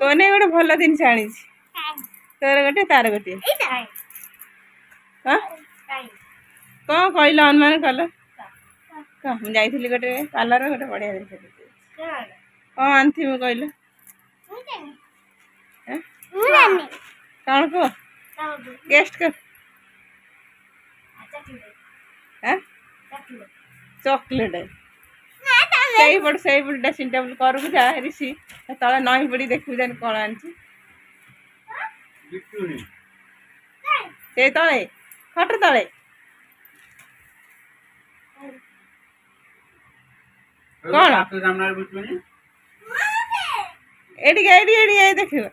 ତୋ ନେଇ ଗୋଟେ ଭଲ ଜିନିଷ ଆଣିଛି, ତୋର ଗୋଟେ ତାର ଗୋଟିଏ। ହଁ, କଣ କହିଲ? ଅନୁମାନ କଲ। ମୁଁ ଯାଇଥିଲି ଗୋଟେ ପାର୍ଲର, ଗୋଟେ ବଢିଆ ଜିନିଷ। କଣ ଆଣିଥିବି କହିଲ? କଣ କୁହ, ଗେଷ୍ଟ କର। ଚକୋଲେଟ। ସେଇପଟ ସେଇପଟ ଡ୍ରେସିଂ ଟେବୁଲ କରକୁ ଯା ରିଷି, ତଳେ ନଈ ପଡ଼ି ଦେଖିବୁ ଜାଣି କଣ ଆଣିଛି। ସେଇ ତଳେ ଖଟ ତଳେ କଣ? ଏଠିକି ଏଠି ଏଠି ଏଇ ଦେଖିବ।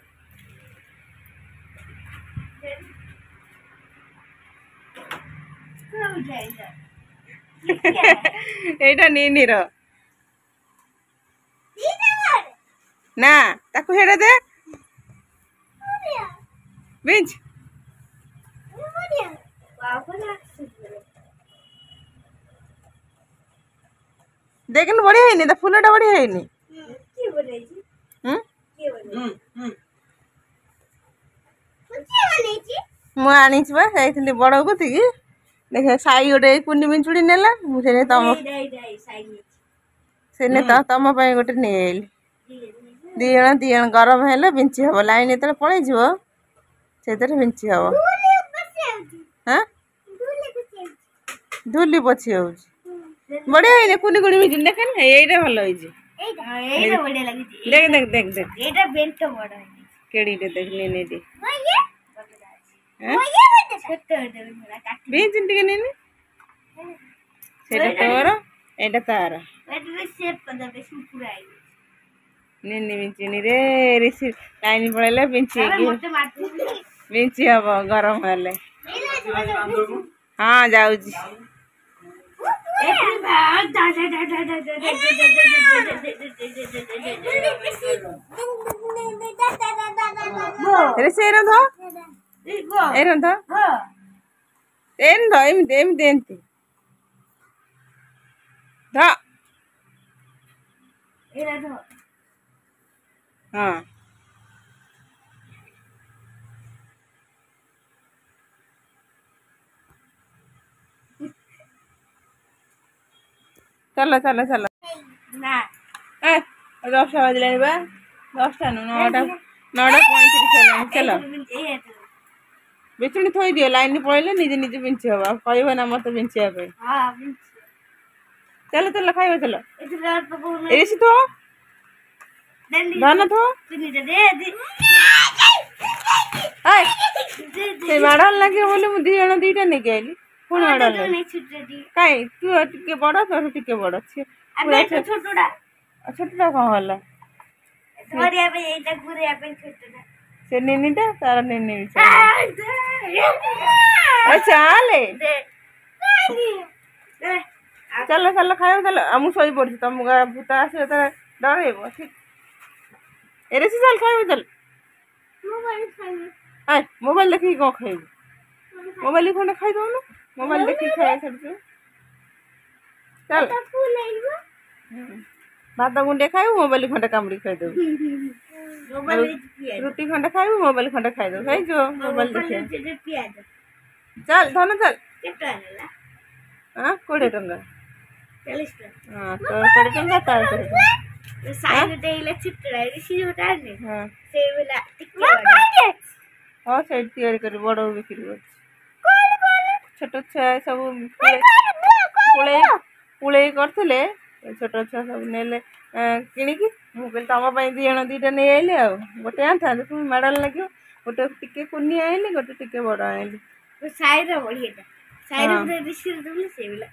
ଏଇଟା ନିନିର ନା, ତାକୁ ସେଇଟା ଦେ। ବିଞ୍ଚ ଦେଖୁନୁ, ବଢିଆ ହେଇନି? ତା ଫୁଲଟା ବଢିଆ ହେଇନି? ମୁଁ ଆଣିଛି ବା, ଯାଇଥିଲି ବଡ କତିକି। ଦେଖ, ସାଇ ଗୋଟେ କୁନି ବିଞ୍ଚୁଡ଼ି ନେଲା। ମୁଁ ସେ ତମ ସେ ତମ ପାଇଁ ଗୋଟେ ନେଇଆଇଲି। ଦି ଜଣ ଦି ଜଣ ଗରମ ହେଲେ ବିଞ୍ଚି ହବ। ଲାଇନ୍ ଯେତେବେଳେ ପଳେଇଯିବ, ସେଇଥିରେ ବିଞ୍ଚି ହବ। ହଁ, ଧୂଲି ପୋଛି ହଉଛି। ବଢିଆ ହେଇନି କୁନି କୁନି ବିଞ୍ଚୁଣି? ଦେଖ, ଏଇଟା ଭଲ ହେଇଛି। ଦେଖ ଦେଖ ଦେଖ ଦେଖ, କେଡ଼ିଟେ ଦେଖ। ନିନି ବିଞ୍ଚୁଣି ଟିକେ ନିନି। ସେଇଟା ତୋର, ଏଇଟା ତାର। ନିନି ବିଞ୍ଚୁଣି ରେ ରିସି। ଲାଇନ ପଳେଇଲେ ବିଞ୍ଚି ବିଞ୍ଚି ହବ ଗରମ ହେଲେ। ହଁ, ଯାଉଛି। ରିସି, ଏଇ ଧ, ଏଇ ଧ, ଏମିତି ଧ, ଏମିତି ଏମିତି ଏମିତି ଧ। ହଁ, ଚାଲ ଚାଲ ଚାଲ। ଏ 10ଟା ବାଜିଲାଣି ବା। 10ଟା ନୁହଁ, 9ଟା, 9:35 ହେଲାଣି। ଚାଲ, ବିଞ୍ଚୁଣି ଥୋଇଦିଅ। ଲାଇନ ପଳେଇଲେ ନିଜେ ନିଜେ ବିଞ୍ଚି ହବ, ଆଉ କହିବ ନା ମତେ ବିଞ୍ଚିବା ପାଇଁ। ଚାଲ ଚାଲ, ଖାଇବ ଚାଲ। ଏସି ଥୋ, ଧାନ ଥୋ। ସେ ମାଡ଼ ଲାଗିବ ବୋଲି ମୁଁ ଦି ଜଣ ଦିଟା ନେଇକି ଆଇଲି। ପୁଣି ମାଡ଼ କାଇଁ? ତୁ ଟିକେ ବଡ, ତୋର ଟିକେ ବଡ। ଛୋଟଟା କଣ ହେଲା? ସେ ନିନିଟା ତାର ନିନି। ଚାଲେ ଚାଲ ଚାଲ, ଖାଇବ ଚାଲ। ଆଉ ମୁଁ ଶୋଇପଡୁଛି, ତମକୁ ଭୂତ ଆସିବ ଯେତେବେଳେ ଡରେଇବ। ଠିକ ଏରେ, ଚାଲ ଖାଇବ ଚାଲ। ମୋବାଇଲ ଦେଖିକି କଣ ଖାଇବୁ? ମୋବାଇଲ ଖଣ୍ଡେ ଖାଇଦଉନୁ। ମୋବାଇଲ ଦେଖିକି ଖାଇବା ଛାଡୁଛୁ। ଚାଲ, ଭାତ ଗୁଣ୍ଡେ ଖାଇବୁ, ମୋବାଇଲ ଖଣ୍ଡେ କାମୁଡି ଖାଇଦବୁ। ରୁଟି ଖଣ୍ଡେ ଖାଇବୁ, ମୋବାଇଲ ଖଣ୍ଡେ ଖାଇଦବୁ। ହେଇଯିବ ମୋବାଇଲ ଦେଖିବା। ଚାଲ ଧନ, ଚାଲ। ହଁ, 20 ଟଙ୍କା। ହଁ, ତୋର 20 ଟଙ୍କା, ତାର 20 ଟଙ୍କା। ହଁ, ସେଇଠି ତିଆରି କରି ବଡ ବିକ୍ରି କରୁଛି। ଛୋଟ ଛୁଆ ସବୁ ପୁଳେଇ ପୁଳେଇ କରିଥିଲେ। ଛୋଟ ଛୁଆ ସବୁ ନେଲେ କିଣିକି। ମୁଁ କହିଲି ତମ ପାଇଁ ଦି ଜଣ ଦିଟା ନେଇ ଆଇଲି। ଆଉ ଗୋଟେ ଆଣିଥାନ୍ତି, ପୁଣି ମାଡ଼ ଲାଗିବ। ଗୋଟେ ଟିକେ କୁନି ଆଣିଲି, ଗୋଟେ ଟିକେ ବଡ଼ ଆଣିଲି। ସାଇର ବଢିଆଟା, ସାଇର ଋଷିର ସେଇଭଳିଆ।